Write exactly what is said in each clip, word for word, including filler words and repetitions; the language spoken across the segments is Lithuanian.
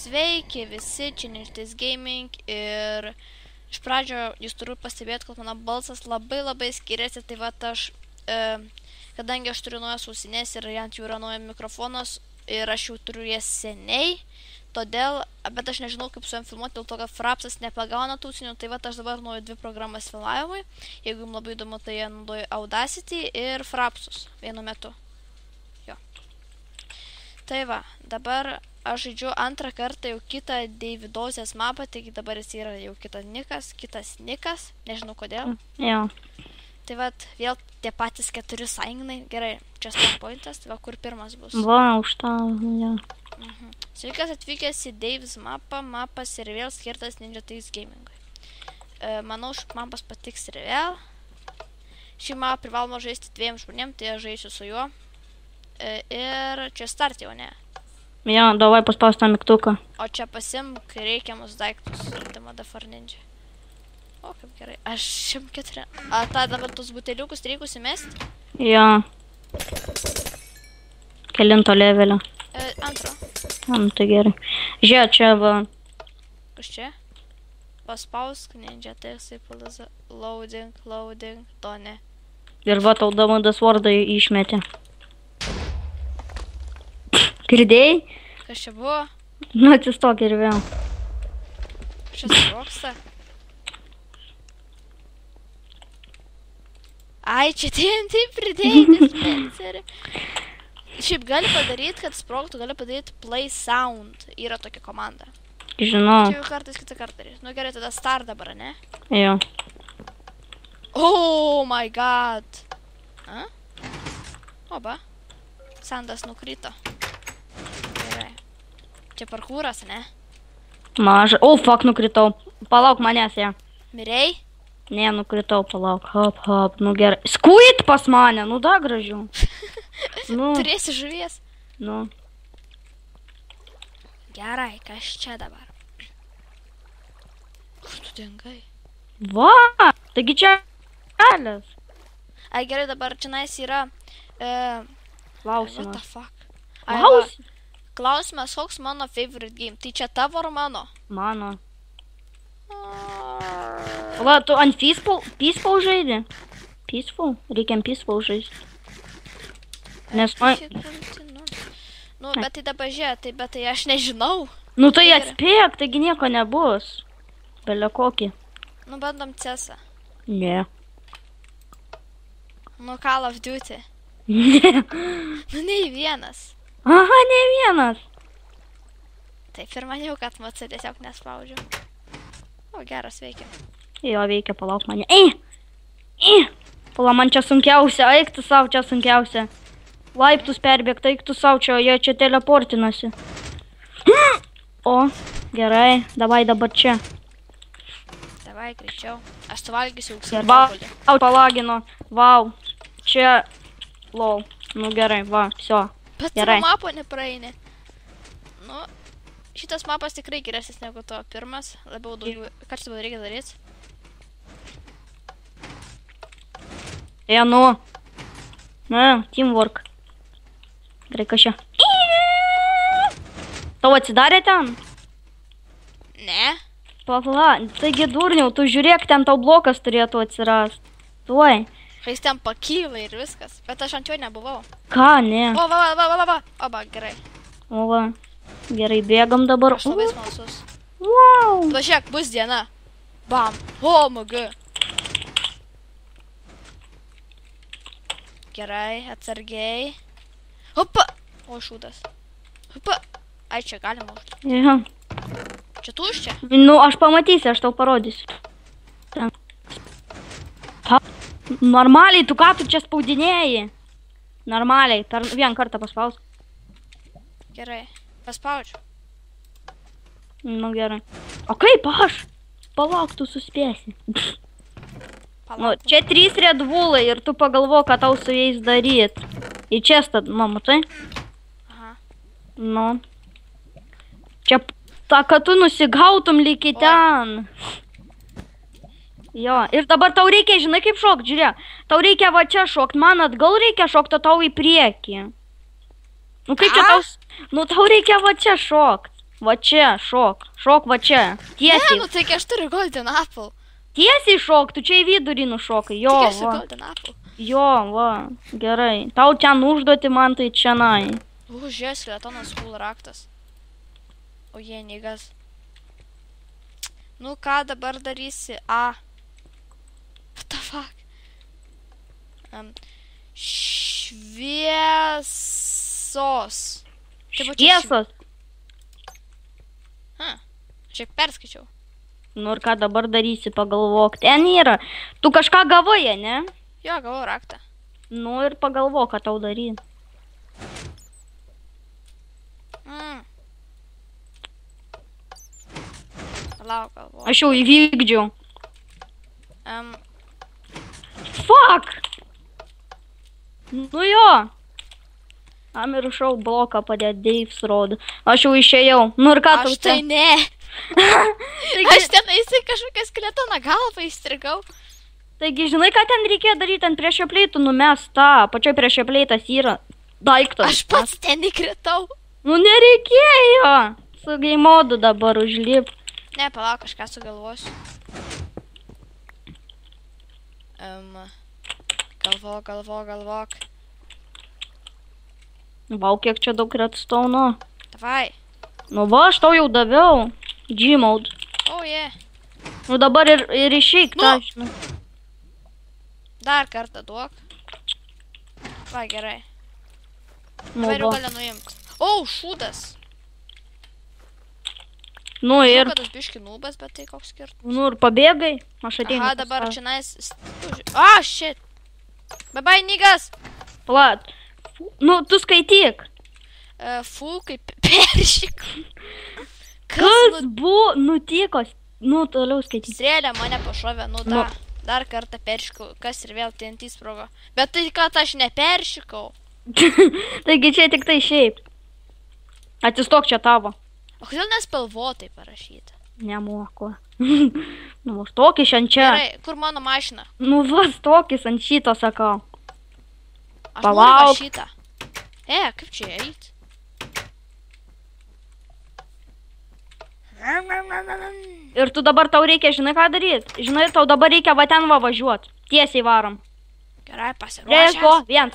Sveiki visi, čia Nirtis Gaming ir iš pradžio jūs turiu pastebėti, kad mano balsas labai labai skiriasi, tai va aš, e, kadangi aš turiu naujas ausinės ir ant jų yra naujas mikrofonas ir aš jau turiu jas seniai, todėl, bet aš nežinau kaip su jam filmuoti, dėl to, kad Frapsas nepagauna tų ausinių, tai va aš dabar naudoju dvi programas filmavimui, jeigu jums labai įdomu, tai jie naudoju Audacity ir Frapsus vienu metu. Jo. Tai va, dabar aš žaidžiu antrą kartą jau kitą Davidozės mapą, taigi dabar jis yra jau kitas nikas, kitas nikas, nežinau kodėl. Jo. Tai va, vėl tie patys keturi sąjungnai, gerai, čia spawn pointas, tai va, kur pirmas bus. Va, už tą, jo. Mhm. Sveikas atvykęs į Davis mapą, mapas ir vėl skirtas Nirtis Gamingui. E, manau, ši mapas patiks ir vėl. Šį mapą privaloma žaisti dviem žmonėm, tai aš žaisiu su juo. E, ir čia start jau, ne? Jo, davai paspaust tą mygtuką. O čia pasimk reikiamus daiktus, Ultima Dafar Ninja. O, kaip gerai. Aš šimtas keturi. A, tą dabar tus buteliukus reikus įmesti? Jo. Kelinto levelio. E, antro. Nu, tai gerai. Žiūrėk, čia va. Kas čia? Paspausk Ninja, tai jisai palaza. Loading, loading, to ne. Ir va, tau Davidas vardą išmetė. Girdėjai? Kas čia buvo? Nu, atsistok ir vėl. Čia sproksta. Ai, čia T N T pridėjai dispenserį. Šiaip gali padaryti, kad sproktų, gali padaryti play sound. Yra tokia komanda. Žinau. Čia jau kartais kitą kartą darys. Nu gerai, tada start dabar, ne? Jo. Oh my god. A? Oba. Sandas nukrito. Gerai. Čia parkūras, ne? Maža. O, fuck, nukritau. Palauk manęs, ja. Mirei? Ne, nukritau, palauk. Hop, hop, nu gerai. Skuit pas mane, nu da gražiau. Nu. Turėsi žuvies? Nu. Gerai, kas čia dabar? Kur tu dingai? Va, taigi čia kelias. Ai, gerai, dabar čionais yra... E, what the Klausimas. fuck? Ai, va, Klausimas. klausimas, koks mano favorite game? Tai čia tavo ar mano? Mano. Va, tu ant peaceful, peaceful žaidži? Peaceful? Reikiam peaceful žaisti. Nes man... Nu, bet tai dabar žiūrė, tai bet tai aš nežinau. Nu tai Gerai. atspėk, taigi nieko nebus. Belia kokį. Nu, bandom cesą. Ne. Nu, Call of Duty. Ne. Nu, nei vienas. Aha, ne vienas. Taip ir maniau, kad macu tiesiog nespaudžiu. O, geras veikia. Jo, veikia, palauk mane. Ei! Ei! Pala, man čia sunkiausia, eik tu savo čia sunkiausia. Laiptus perbėgti, eik tu savo čia, jie čia teleportinasi. O, gerai, davai dabar čia. Davai, greičiau. Aš suvalgysiu Ir auksinių va, obuolių. vau, palagino, vau. Čia, lol. Nu gerai, va, viso. Bet Gerai. tavo mapo nepraeini. Nu, šitas mapas tikrai geresnis negu to pirmas. Labiau daugiau. Ką čia dabar reikia daryti? E, nu. Na, teamwork. Gerai, kas čia? Tau atsidarė ten? Ne. Pala, taigi durniau, tu žiūrėk, ten tau blokas turėtų atsirast. Tuoj. Jis ten pakyla ir viskas. Bet aš ant jo nebuvau. Ką, ne? O, va, va, va, va, va. O, va, gerai. O, va. Gerai, bėgam dabar. Aš labai smalsus. Wow. Va, žiūrėk, bus diena. Bam. O, mg. Gerai, atsargiai. Opa. O, šūdas. Opa. Ai, čia galima užduoti. Ja. Čia tuščia. Nu, aš pamatysiu, aš tau parodysiu. Ten. Ha. Normaliai, tu ką tu čia spaudinėjai? Normaliai, per vieną kartą paspaus. Gerai. Paspaudžiu. Nu, gerai. O kaip aš? Palauk, tu suspėsi. Nu, Palauk. čia trys Red Bullai ir tu pagalvo, ką tau su jais daryt. Į čestą, nu, matai? Aha. Nu. Čia ta, kad tu nusigautum lyg į ten. Jo, ir dabar tau reikia, žinai kaip šokt, žiūrėk. Tau reikia va čia šokt, man atgal reikia šokt, o tau į priekį. Nu kaip čia Ką? tau... Nu tau reikia va čia šokt. Va čia, šok. Šok va čia. Ne, Tiesiai. nu taigi aš turiu golden apple. Tiesiai šok, tu čia į vidurį nušokai. Jo, Taigi aš turiu va. golden apple. Jo, va. Gerai. Tau ten užduoti man tai čianai. Užės, letonas full raktas. O jie nygas. Nu ką dabar darysi? A. What the fuck? Um, šviesos. Tai va čia Šviesos. Ha, šiek perskaičiau. Nu ir ką dabar darysi, pagalvok. Ten yra. Tu kažką gavai, ne? Jo, gavau raktą. Nu ir pagalvok, ką tau daryti. Mm. Lauk, galvoju. Aš jau įvykdžiau. Um, Fuck! Nu jo. Amiršau bloką padėt Dave's rodo. Aš jau išėjau. Nu ir ką tau aš tai čia? ne. Taigi, Aš ten eisi kažkokią skeletoną galvą įstrigau. taigi, žinai, ką ten reikėjo daryti? Ant prieš pleitų numest tą. Pačioj prieš pleitas yra daiktas. Aš pats ten įkritau. Nu nereikėjo. Su game modu dabar užlip. Ne, palauk, kažką sugalvosiu. Um, galvok, galvok, galvok. Vau, kiek čia daug redstone. Davai. Nu va, aš tau jau daviau. G-mode. O, oh, je. Nu dabar ir, ir išeik Nu. tą, žinai. Dar kartą duok. Va, gerai. Nu Dabar jau va. gali nuimti. O, šūdas. Nu Ir... ir, Žinau, kad aš biški nūbas, bet tai koks skirtumas. nu ir pabėgai. Aš ateinu. Aha, pas dabar tave. čia nais... Ah, shit. Bye bye, niggas. Plat. Nu, tu skaityk. Uh, fu, kaip peršik. Kas buvo nutiko? Nu, toliau skaityk. Strėlė mane pašovė, nu Nu. da. Dar kartą peršikau, kas ir vėl T N T sprogo. Bet tai, kad aš neperšikau. Taigi čia tik tai šiaip. Atsistok čia tavo. O kodėl nespalvotai parašyta? Nemoku. Nu, stokis ant čia. Gerai, kur mano mašina? Nu, va, stokis ant šito, sakau. Aš Palauk. noriu va šitą. E, kaip čia eit? Ir tu dabar tau reikia, žinai ką daryti? Žinai, tau dabar reikia va ten va važiuot. Tiesiai varom. Gerai, Prieš pasiruošęs. go, viens.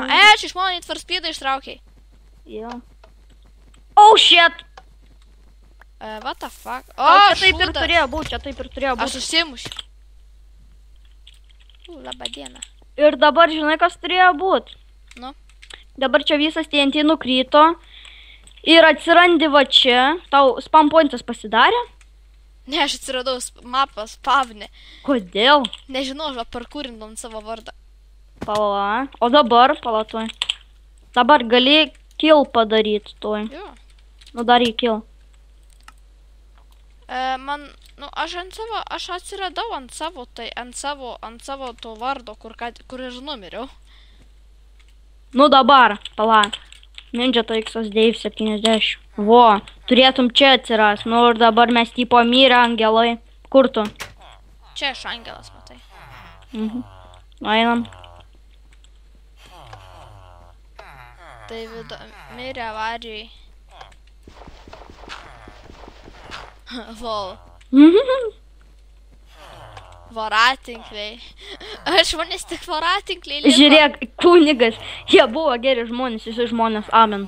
E, čia iš mano Need for Speed ištraukiai. Jo. Oh, shit. Uh, what the fuck? O, O, čia taip ir šūdas. turėjo būti, čia taip ir turėjo Aš būti. susimušiu. U, labą dieną. Ir dabar, žinai, kas turėjo būti? Nu. Dabar čia visas T N T nukrito. Ir atsirandi va čia. Tau spam pointas pasidarė? Ne, aš atsiradau sp- mapą spavnį. Kodėl? Nežinau, aš va parkūrindom savo vardą. Pala. O dabar, palatuoj. Dabar gali kill padaryti tuoj. Jo. Nu, dar į kill. E, man, nu, aš ant savo, aš atsiradau ant savo, tai ant savo, ant savo to vardo, kur, ką, kur ir numiriau. Nu, dabar, pala. Ninja T X Dave septyniasdešimt. Vo, turėtum čia atsiras. Nu, ir dabar mes tipo mirę angelai. Kur tu? Čia aš angelas, matai. Mhm. Einam. Tai vido, mirė avarijai. Lol. Voratinkliai. Aš manęs tik voratinkliai liko. Žiūrėk, kunigas. Jie buvo geri žmonės, visi žmonės. Amen.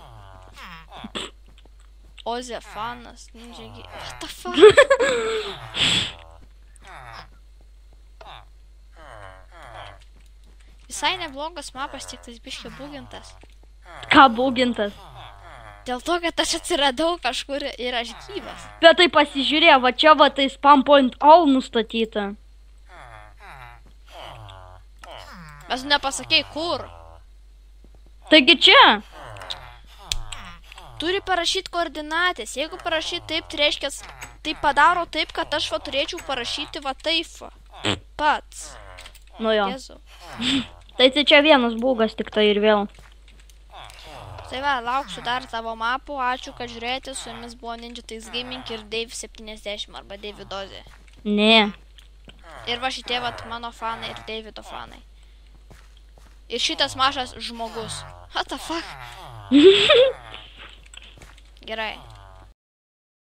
Ozefanas, ninja gi... What the fuck? Visai neblogas mapas, tik tas biškė bugintas. Ką būgintas? Dėl to, kad aš atsiradau kažkur ir aš gyvas. Bet tai pasižiūrė, va čia va tai spam point all nustatyta. Mes nepasakėjai kur. Taigi čia. Turi parašyti koordinatės. Jeigu parašyti taip, tai reiškia, tai padaro taip, kad aš va turėčiau parašyti va taip va. Pats. Nu jo. Jėzau. Tai tai čia vienas būgas tik tai ir vėl. Tai va, lauksiu dar tavo mapų. Ačiū, kad žiūrėjote. Su jumis buvo Ninja T X Gaming ir Dave septyniasdešimt arba Davidozė. Ne. Ir va šitie vat mano fanai ir Davido fanai. Ir šitas mažas žmogus. What the fuck? Gerai.